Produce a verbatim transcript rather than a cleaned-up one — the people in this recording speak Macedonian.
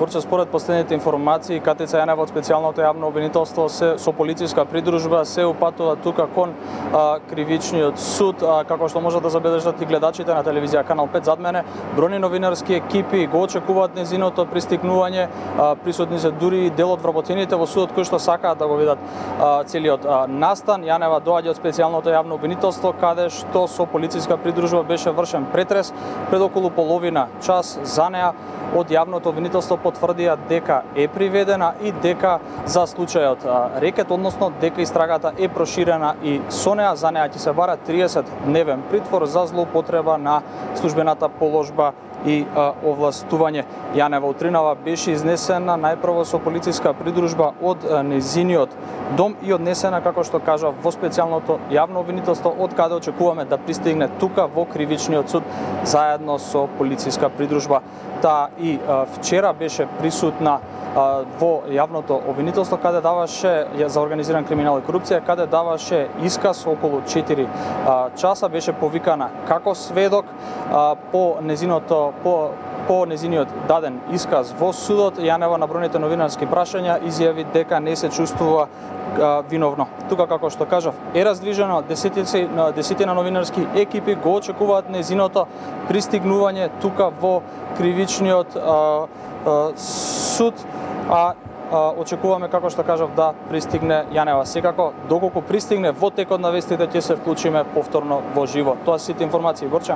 Борче, според последните информации, КТЦ Јанева од специјалното јавно обвинителство се со полициска придружба се упатува тука кон а, кривичниот суд, а, како што може да забележат и гледачите на телевизија Канал пет зад мене. Бројни новинарски екипи го очекуваат незиното пристигнување, а, присутни се дури и дел од вработените во судот кои што сакаат да го видат а, целиот а, настан. Јанева доаѓа од специјалното јавно обвинителство, каде што со полициска придружба беше вршен претрес пред околу половина час. За неа од јавното обвинителство потврдија дека е приведена и дека за случајот рекет, односно дека истрагата е проширена и со неа. За неа ќе се бара триесет дневен притвор за злоупотреба на службената положба и а, овластување. Јанева утринава беше изнесена најпрво со полициска придружба од а, незиниот дом и однесена, како што кажа, во специјалното јавно обвинителство, од каде очекуваме да пристигне тука во кривичниот суд заедно со полициска придружба. Таа и а, вчера беше присутна а, во јавното обвинителство, каде даваше за организиран криминал и корупција, каде даваше исказ околу четири а, часа, беше повикана како сведок а, по незиното по по незиниот даден исказ во судот. Јанева на бројните новинарски прашања изјави дека не се чувствува а, виновно. Тука, како што кажав, е раздвижено, десетина, десетина новинарски екипи го очекуваат незиното пристигнување тука во кривичниот а, а, суд, а очекуваме, како што кажав, да пристигне Јанева. Секако, доколку пристигне во текот на вестите, ќе се вклучиме повторно во живо. Тоа се сите информации, Борче.